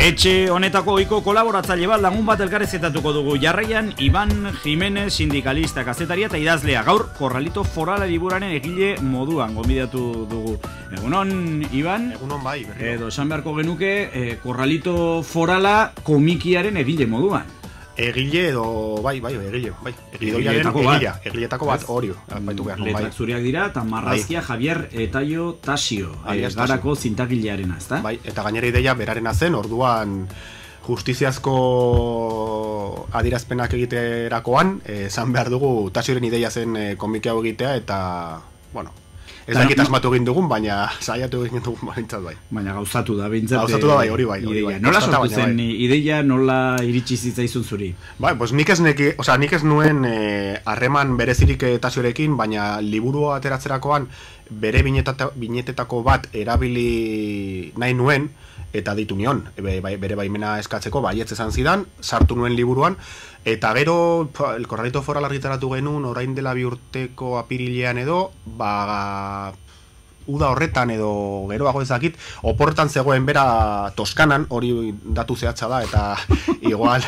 Etxe honetako ohiko kolaboratzaile bat lagun bat elkarrezetatuko dugu. Jarraian Iban Jimenez, sindikalista, kazetaria eta idazlea. Gaur Korralito Forala liburaren egile moduan gonbidatu dugu. Egunon, Iban? Egunon bai. Edo esan beharko genuke Korralito Forala komikiaren egile moduan. Egile edo, egile. Egiletako bat hori. Letrak zuriak dira, eta marrazkia Javier Etaio Tasio, garako zintagilearena, ezta? Bai, eta gainera ideia berarena zen, orduan justiziazko adirazpenak egiterakoan, esan behar dugu Tasioren ideia zen komiki hau egitea, eta, bueno, ez dakit asmatu egin dugun, baina saiatu egin dugun baintzat bai. Baina gauzatu da, bintzat. Gauzatu da bai, hori bai. Nola sortu zen ideia, nola iritsi zitzaizun zuri? Bai, pues nik ez nuen harreman berezirik Tasiorekin, baina liburu ateratzerakoan bere binetetako bat erabili nahi nuen, eta ditu nion, bere baimena eskatzeko, baietz esan zidan, sartu nuen liburuan, eta gero, El Korralito Foral argitaratu genuen, orain dela 2 urteko apirilean edo, uda horretan edo geroago ezakit, oporretan zegoen bera Toskanan, hori datu zehatza da, eta igual,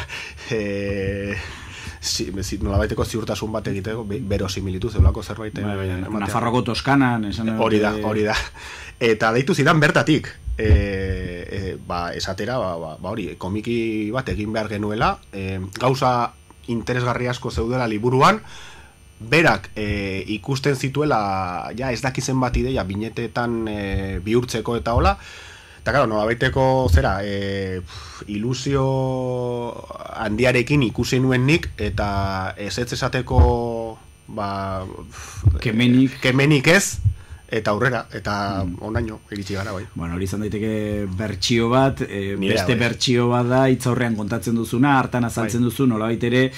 nolabaiteko ziurtasun bat egiteko, berosimilitu zeulako zerbait. Nafarroko Toskanan, hori da. Eta deitu zidan bertatik, esatera, hori, komiki bat egin behar genuela, gauza interesgarri asko zeudela liburuan, berak ikusten zituela, ja ez dakizen bat ideia, binetetan bihurtzeko eta hola, eta claro, nolabaiteko ilusio handiarekin ikusi nuen nik, eta ez esateko kemenik ez, eta aurrera, eta onaino iritsi gara bai. Bueno, hori izan daiteke bertsio bat, beste bertsio bat da, hitzaurrean kontatzen duzuna, hartan azaltzen duzu, nolabait ere,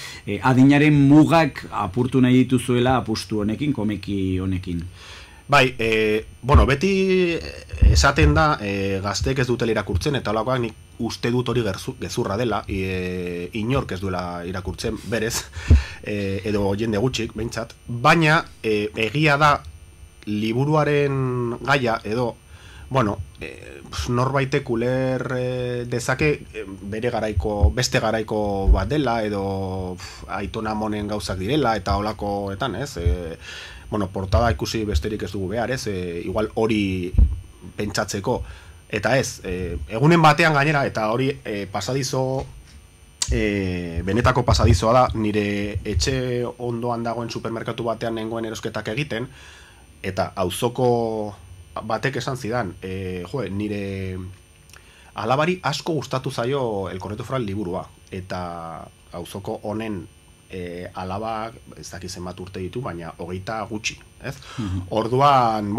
adinaren mugak apurtu nahi dituzuela apustu honekin, komiki honekin. Bai, beti esaten da gazteek ez dutela irakurtzen, eta holakoak nik uste dut hori gezurra dela, inork ez duela irakurtzen, berez, edo jende gutxik, behintzat, baina egia da liburuaren gaia edo, norbaitek uler dezake beste garaiko bat dela, edo Aitona Amonen gauzak direla, eta holakoetan, ez? Portada ikusi besterik ez dugu behar, ez? Igual hori pentsatzeko, eta ez, egunen batean gainera, eta hori pasadizo, benetako pasadizoa da, nire etxe ondoan dagoen supermerkatu batean nengoen erosketak egiten, eta auzoko batek esan zidan, nire alabari asko gustatu zaio El Korralito Foral liburua, eta auzoko honen alabak, ez dakizen bat urte ditu, baina 20 gutxi, ez? Orduan,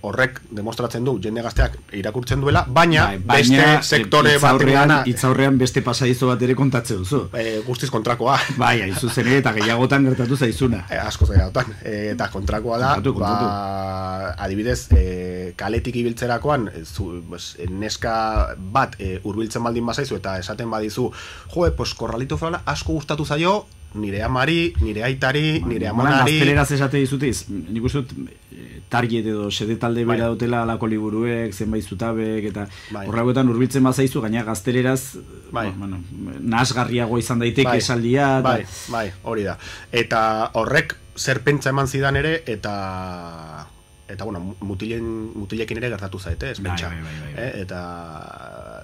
horrek demostratzen du, jende gazteak irakurtzen duela, baina beste sektore batean hitzaurrean beste pasadizo bat ere kontatzen duzu. Guztiz kontrakoa. Bai, aizu zen eta gehiagotan gertatu zaizuna. Asko gehiagotan, eta kontrakoa da, adibidez, kaletik ibiltzerakoan, neska bat hurbiltzen baldin bazaizu, eta esaten badizu, Korralito Forala asko gustatu zaio, nire amari, nire aitari, nire amonari. Gazteleraz esate dizutiz, nik uste target edo sede talde bera dutela alako liburuek, zenbait zutabek, eta horregoetan hurbiltzen bazaizu, gaina gazteleraz nahasgarriago izan daiteke esaldia. Bai, hori da. Eta horrek zer pentsa eman zidan ere, eta mutilekin ere gertatu zaite, ez pentsa. Eta,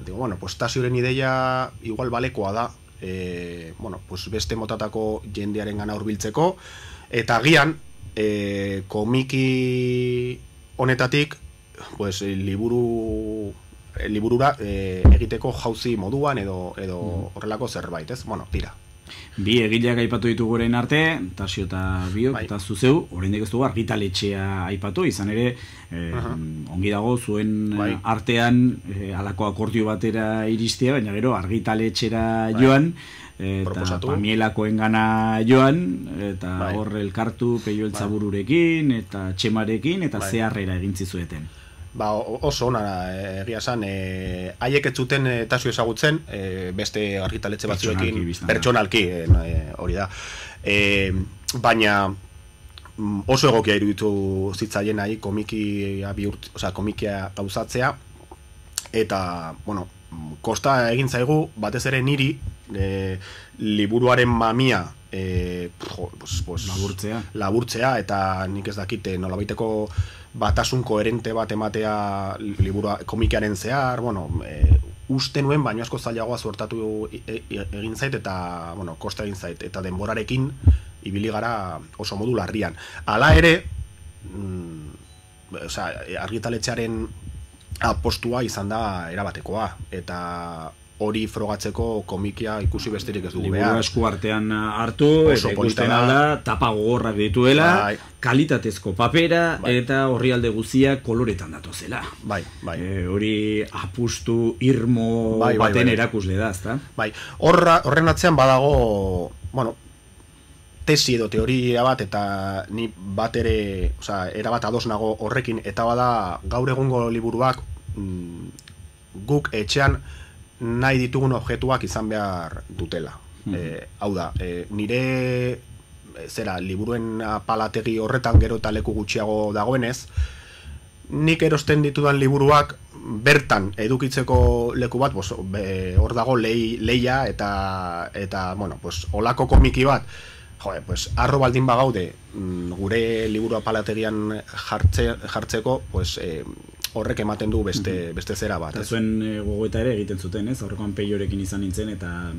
Tasioren ideia igual balekoa da, beste motatako jendearen gana hurbiltzeko, eta agian komiki honetatik liburura egiteko jauzi moduan edo horrelako zerbait, ez? Tira. Bi egileak aipatu ditugu orain arte, Tasio eta Biok, eta zuzeu, oraindik ez dugu argitaletxea aipatu, izan ere, ongi dago zuen artean halako akordio batera iristea, baina gero argitaletxera joan, eta Pamielakoen gana joan, eta hor elkartu Peio Eltzabururekin, eta Txemarekin, eta zeharrera egintzizueten. Oso ona egia esan, haiek ez zuten Tasio ezagutzen, beste argitaletxe batzuekin pertsonalki, hori da. Baina oso egokia iruditu zitzaien komikia gauzatzea, eta, kosta egin zaigu, batez ere niri, liburuaren mamia laburtzea, eta nik ez dakit nolabaiteko batasun koherente bat ematea liburua komikearen zehar, uste nuen, baino asko zailagoa suertatu egin zait, eta, kosta egin zait, eta denborarekin ibili gara oso modu larrian. Hala ere, argitaletxearen apostua izan da erabatekoa, eta hori frogatzeko komikia ikusi besterik ez dugu behar. Liburu esku artean hartu, eta ikusten da, tapa gogorrak dituela, kalitatezko papera, eta horrialde guztiak koloretan datozela. Hori apustu irmo baten erakusle da, ezta? Horren atzean badago, tesi edo teoria bat, eta ni bat ere, erabat ados nago horrekin, eta bada gaur egungo liburuak guk etxean nahi ditugun objektuak izan behar dutela. Hau da, nire liburuen palategi horretan gero eta leku gutxiago dagoenez, nik erosten ditudan liburuak bertan edukitzeko leku bat, hor dago leia eta olako komiki bat, arro baldin bagaude gure liburua palategian jartzeko, horrek ematen du beste zera bat. Eta zuen gogoeta ere egiten zuten, ez? Aurrekoan Peiorekin izan nintzen, eta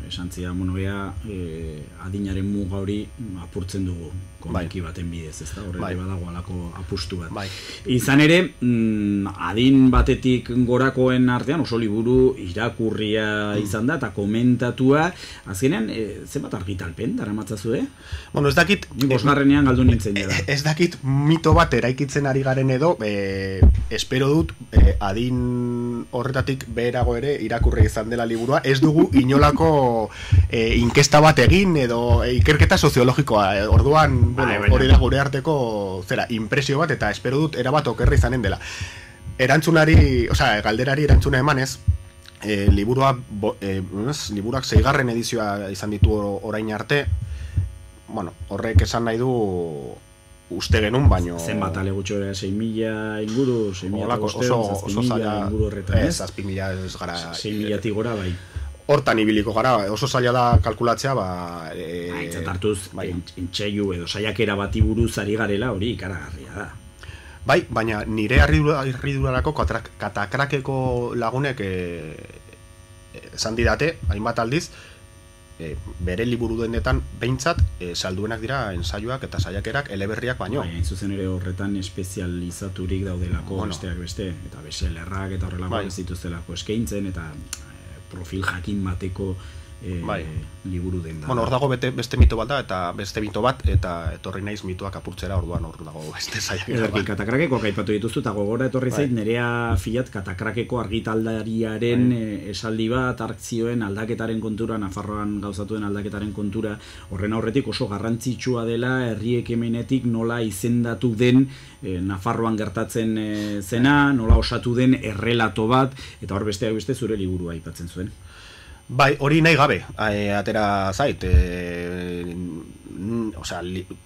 esantzia adinaren muga hori apurtzen dugu komiki baten bidez, ez da? Horrek badago alako apustu bat. Izan ere, adin batetik gorakoen artean oso liburu irakurria izan da, eta komentatua, azkenean, zenbat argitalpen daramatzazue? Ez dakit... Ni bosgarrenean galdu nintzen dira. Ez dakit mito bat eraikitzen ari garen edo, espero dut adin horretatik beherago ere irakurri izan dela liburua, ez dugu inolako inkesta bat egin edo ikerketa soziologikoa, orduan hori da gure arteko impresio bat, eta espero dut erabat okerra izanen dela. Galderari erantzuna emanez, liburuak 6. edizioa izan ditu orain arte, horrek esan nahi du uste genuen, baino... Zenbat ale gutxo 6.000 inguru, 6.000 inguru horretan, ez? 6.000 ez gara... 6.000 gora, bai. Hortan ibiliko gara, oso zaila da kalkulatzea, Aitzat hartuz, entxeiu edo saiakera bati buruz ari garela, hori ikaragarria da. Baina nire harridurarako katakrakeko lagunek esan didate, hainbat aldiz, bere liburu dendetan behintzat salduenak dira ensaioak eta saiakerak eleberriak baino. Hain zuzen ere horretan espezializaturik daudelako besteak beste, eta bestsellerrak eta horrelako ez dituztelako eskaintzen, eta profil jakin bateko liburu den da. Hor dago beste mito bat da, eta beste mito bat, eta etorri naiz mitoak apurtzera, orduan hor dago beste saiakera bat. Katakrakeko aipatu dituztu, eta gogora etorri zait, Nerea Fiat Katakrakeko argitaldariaren esaldi bat, hartzioen aldaketaren kontura, Nafarroan gauzatuen aldaketaren kontura, horren aurretik oso garrantzitsua dela herri ekimenetik nola izendatu den Nafarroan gertatzen zena, nola osatu den errelato bat, eta hor besteak beste zure liburua aipatzen zuen. Hori nahi gabe, atera zait,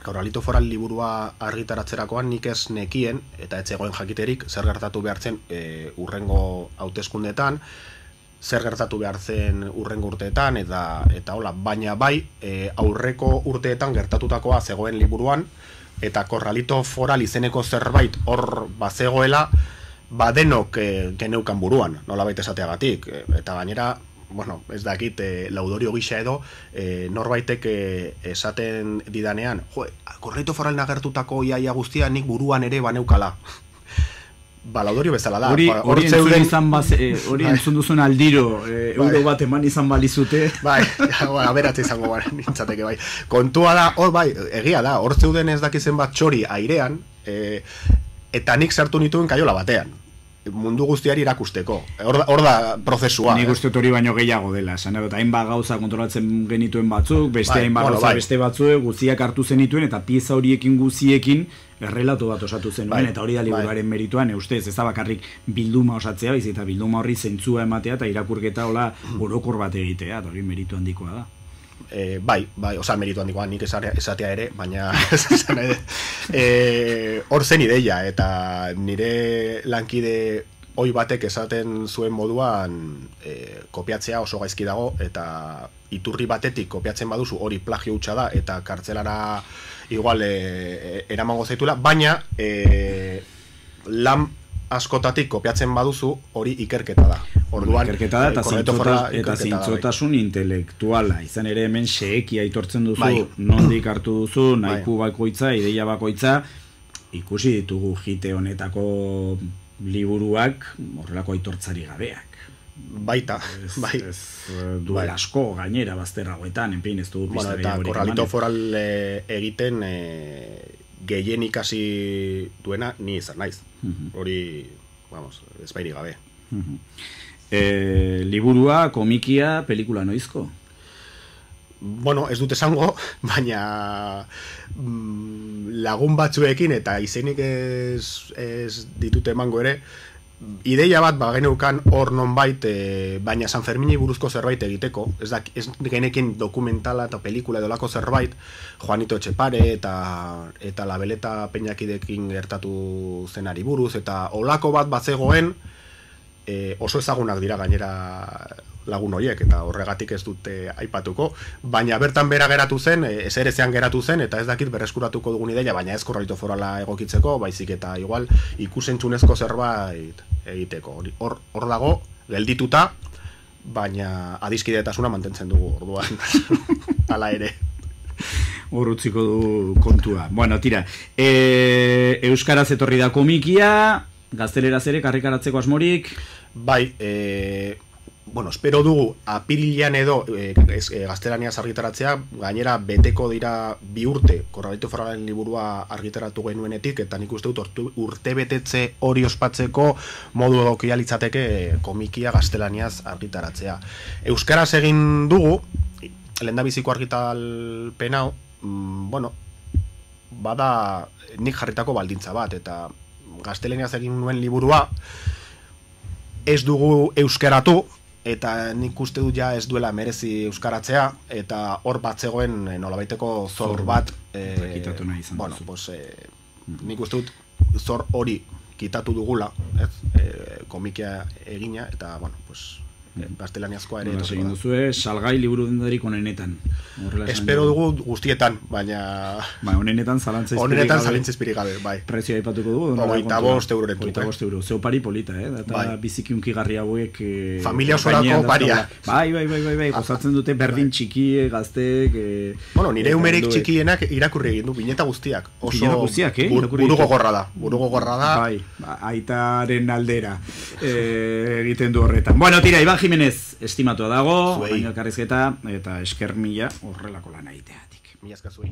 Corralito Foral liburua argitaratzerakoan nik ez nekien, eta ez zegoen jakiterik, zer gertatu behartzen urrengo hauteskundeetan, zer gertatu behartzen urrengo urteetan, eta hola, baina aurreko urteetan gertatutakoa zegoen liburuan, eta Corralito Foral izeneko zerbait hor bazegoela, denok geneukan buruan, nolabait esateagatik, eta gainera, ez dakit, laudorio gisa edo, norbaitek esaten didanean, Corralito Foral nagertutako iaia guztia nik buruan ere baneukala. Laudorio bezala da. Hori entzun duzun aldiro, euro bat eman izan balizute. Aberatze izango nintzateke, kontua da, egia da, hor zeuden ez dakizen bat txori airean, eta nik sartu nituen kaiola batean. Mundu guztiari irakusteko. Hor da prozesua. Nik uste hori baino gehiago dela. Eta hainbat gauza kontrolatzen genituen batzuk, beste hainbat gauza beste batzuk, guztiak hartu zenituen, eta pieza horiekin guziekin errelato bat osatu zenuen, eta hori da liburuaren merituan, ustez, ez da bakarrik bilduma osatzea, eta bilduma horri zentzua ematea, eta irakurketa hola orokor bat egitea, eta hori meritu handikoa da. Meritu handikoa nik esatea ere, baina hor zen ideia, eta nire lankide oi batek esaten zuen moduan kopiatzea oso gaizki dago, eta iturri batetik kopiatzen baduzu hori plagio hutsa da, eta kartzelara igual eramango zaitula, baina lan askotatik kopiatzen baduzu hori ikerketa da. Orduan, ikerketa da eta zintzotasun intelektuala. Izan ere hemen xeeki aitortzen duzu, nondik hartu duzu, nahiku bakoitza, ideia bakoitza, ikusi ditugu jite honetako liburuak horrelako aitortzari gabeak. Baita, bai. Duel asko gainera bazterragoetan, enpein ez dugu pista eta Corralito Foral egiten gehien ikasi duena ni izan naiz. Hori, vamos, ezpairi gabe. Liburua, komikia, pelikula noizko? Bueno, ez dut esango, baina lagun batzuekin eta izenik ez ditut emango ere, ideia bat geneukan hor nonbait, baina San Fermini buruzko zerbait egiteko, ez genekin dokumentala eta pelikula edolako zerbait, Juanito Etxepare eta Labeleta Peñakidekin gertatu zenari buruz, eta olako bat batzegoen, oso ezagunak dira gainera lagun horiek, eta horregatik ez dute aipatuko, baina bertan bera geratu zen, ezerezean geratu zen, eta ez dakit berreskuratuko dugun ideia, baina ez Corralito Forala egokitzeko, baizik eta igual ikusentzunezko zerbait egiteko. Hor dago, geldituta, baina adiskidetasuna mantentzen dugu orduan, hala ere. Hor utziko du kontua. Bueno, tira, euskaraz etorri da komikia, gazteleraz ere karrikaratzeko asmorik? Bai, bueno, espero dugu apirilean edo gaztelaniaz argitaratzea, gainera beteko dira 2 urte Corralito Foralen liburua argitaratu genuenetik, eta nik uste dut urte betetze hori ospatzeko modu egokia litzateke komikia gaztelaniaz argitaratzea. Euskaraz egin dugu, lehendabiziko argitalpen hau, bueno, bada nik jarritako baldintza bat, eta gaztelaniaz egin nuen liburua ez dugu euskaratu, eta nik uste dut ja ez duela merezi euskaratzea, eta hor bat zegoen nolabaiteko zor bat, bueno, pues, nik uste dut zor hori kitatu dugula, komikia egina, eta, bueno, pues, gaztelaniazkoa ere. Egin duzue, salgai liburu dendarik onenetan. Espero dugu guztietan, baina... Onenetan zalantzizpirik gabe, bai. Prezioa aipatuko dugu? 25 euroren dut. 25 euro. Zeu pari polita, eta bizikiunki garri hauek... Familia osorako paria. Bai, gozatzen dute berdin txiki, gaztek... Bueno, nire umerik txikienak irakurri egin du, bineta guztiak. Bineta guztiak, Burugo gorra da. Bai, aitaren aldera egiten du horretan. Bueno, tira, Iban Jimenez estimatua dago, baina elkarrizketa eta esker mila horrelako lan egiteatik. Mila esker zuei.